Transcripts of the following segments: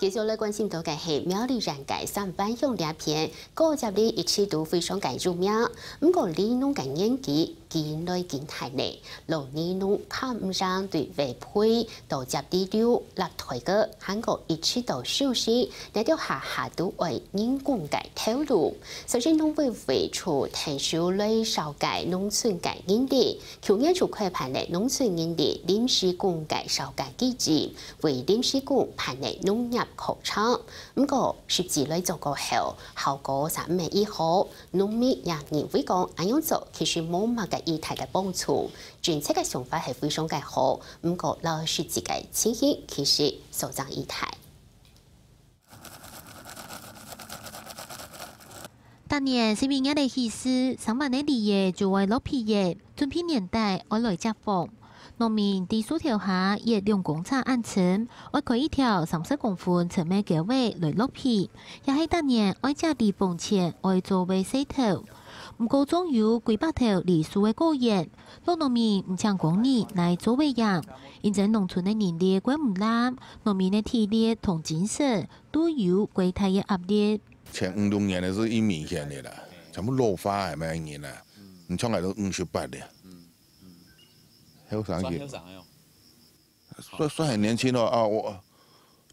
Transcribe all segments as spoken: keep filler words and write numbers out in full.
繼續來關心到个係苗栗縣个三灣鄉這片，果汁機一直都非常个有名。毋過里農个年紀緊來緊大咧，老里農較毋想對外配到接地流落袋个，還過一直到收成，這兜下下都愛人工个頭路。所以農委會就𢯭手來紹介農村个人力，舊年就開辦了農村人力臨時工个紹介機制， 為臨時工辦理農業課程。毋過，實際來做過後，效果嗄毋係已好，農民也認為講恁樣做其實無麼个已大个幫助。政策个想法係非常个好，毋過摎實際个情形其實所差已大。逐年十二月个起始，三灣个梨仔就會落皮仔，準備年底愛來接荒。 農民在樹頭下挖兩公尺恁深，愛開一條三十公分深个溝仔來落皮，也係逐年愛接梨崩前愛做个事頭。毋過種有幾百頭梨樹个果園，老農民毋請工人來做个忒，因爭農村个人力過毋罅，農民个體力同精神都有過大个壓力。前五六年个係已明顯个啦，全部老化个，無人啊，毋像𠊎兜五十八个。 後生个。算後生个哦。算，算很年輕哦，啊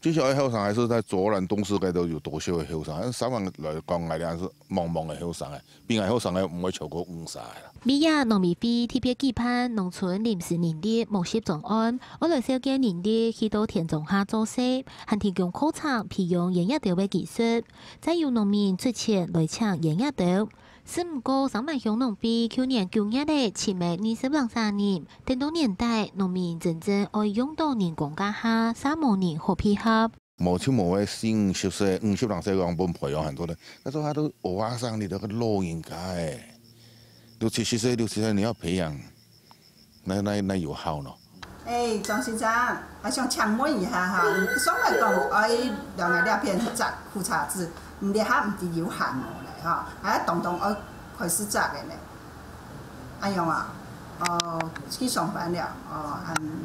，𠊎，至少愛後生，還係在卓蘭東勢該兜有多少个後生，三灣來講，𠊎兜還係茫茫个後生个，比𠊎後生个毋會超過五十个啦。尾仔農委會特別舉辦農村臨時人力募集專案，愛來紹介人力去到田莊下做事，還提供課程培養園仔頭个技術，再由農民出錢來請園仔頭。 只毋過三灣鄉農會舊年九月个七萬二十零儕人，等到年底，農民真正愛用到人工該下，嗄無人好配合。無就無个四五十歲、五十零歲个人分培養恁多个，該時候佢都學生，你兜个老人家欸，六七十歲、六七十歲你愛培養， 哪，哪，哪有效呢？欸，莊先生，𠊎想請問一下哈，上來講，愛兩个這片摘苦茶籽，你這下毋知有閒無咧哈，還當當愛開始摘个呢。恁樣啊，哦，去上班了，哦，嗯，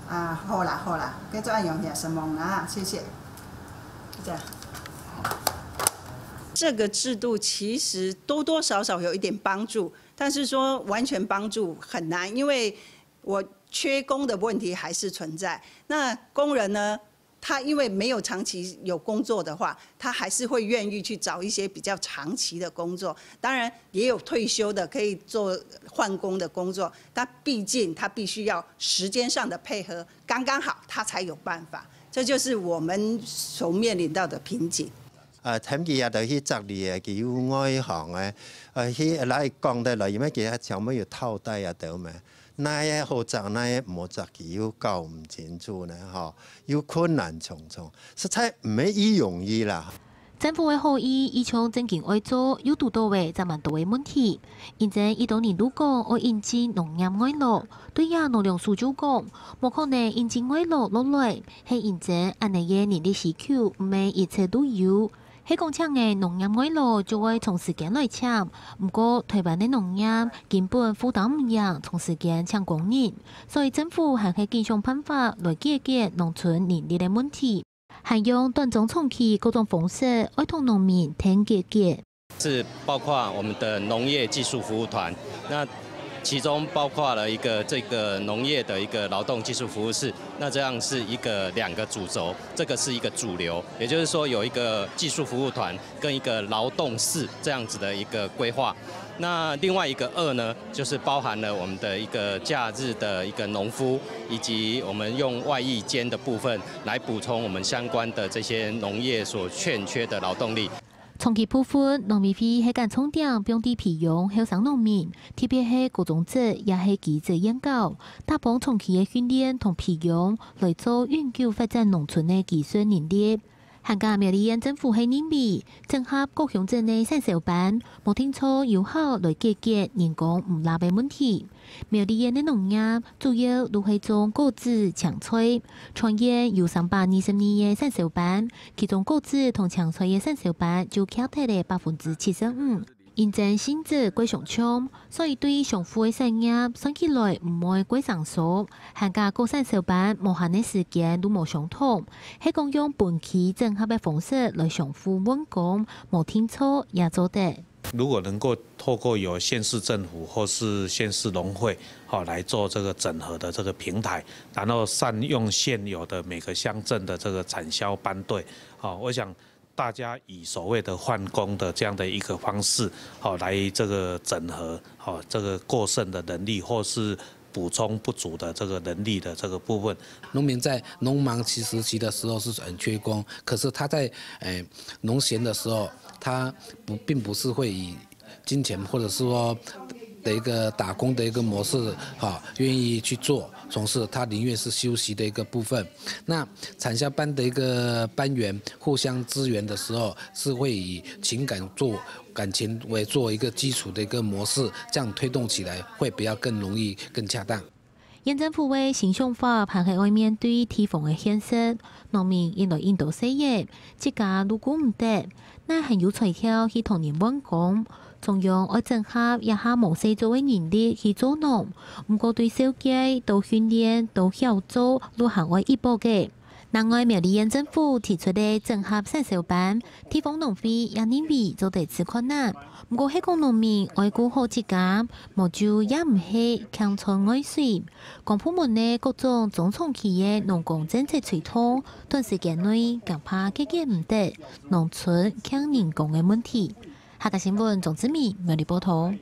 啊，好啦，好啦，該就恁樣，承蒙啦，謝謝。就這樣。這個制度其實多多少少有一點幫助， 但是說完全幫助很難，因為我缺工的問題還是存在。那工人呢，他因為沒有長期有工作的話，他還是會願意去找一些比較長期的工作。當然也有退休的可以做換工的工作，但畢竟他必須要時間上的配合剛剛好，他才有辦法。這就是我們所面臨到的瓶頸。 啊，跈佢啊，就去摘梨仔，佢有外行个，啊，去來講得來，因為佢前面有套袋啊，對無？哪个好摘，哪个毋好摘，佢又搞毋清楚呢，吼，又困難重重，實在毋係已容易啦。政府个好意，一向正經愛做，又堵到个嗄蠻多个問題。因爭已多人都講愛引進農業外勞，對這農糧署就講，無可能引進外勞落來，係因爭恁呢个人力需求毋係一直都有。 係講請个農業外勞就愛長時間來請，毋過臺灣个農業根本負擔毋贏長時間請工人，所以政府還係緊想辦法來解決農村人力个問題，還用短中長期各種方式愛同農民談解決。是包括我們的農業技術服務團，那其中包括了一個這個農業的一個勞動技術服務室，那這樣是一個兩個主軸，這個是一個主流，也就是說有一個技術服務團 跟一個勞動室這樣子的一個規劃。那另外一個二呢，就是包含了我們的一個假日的一個農夫，以及我們用外役間的部分來補充我們相關的這些農業所欠缺的勞動力。長期部分，農委會係揀重點放在培養後生農民，特別係高中職也係技職研究，打幫長期个訓練同培養來做永久發展農村个技術能力。 還過苗栗縣政府係認為，整合各鄉鎮个產銷班，無定著有效來解決人工毋罅个問題。苗栗縣个農業主要都係種果子、青菜，全縣有三百二十二个產銷班，其中果子同青菜个產銷班就徛忒了百分之七十五。因爭性質蓋相像，所以對商戶个產業算起來毋會蓋生疏，還加各產銷班無閒个時間都無相同，係講用分區整合个方式來相互換工，無定著也做得。如果能夠透過由縣市政府或是縣市農會，好，來做這個整合的這個平台，然後善用現有的每個鄉鎮的這個產銷班隊，好，我想大家以所謂的換工的這樣的一個方式，好，來這個整合，好，這個過剩的人力或是補充不足的這個人力的這個部分。農民在農忙期時期的時候是很缺工，可是他在，誒，農閒的時候，他不，並不是會以金錢或者是說的一個打工的一個模式，哈，願意去做，從事他寧願是休息的一個部分。那產銷班的一個班員互相支援的時候，是會以情感做，感情為做一個基礎的一個模式，這樣推動起來會比較更容易、更恰當。縣政府个新想法還係愛面對地方个現實，農民因來因到細業，自家都顧毋得，哪還有才調去同人換工？中央愛整合這下無事做个人力去做農，毋過對紹介、到訓練、到協助，都還愛一步个。另外，苗栗縣政府提出个整合產銷班，地方農會也認為做得試看啊。毋過係講農民愛顧好自家，無就也毋係強賺外水。公部門个各種中長期个農工政策推動，短時間內恐怕解決毋得農村欠人工个問題。客家新聞鍾志明苗栗報導。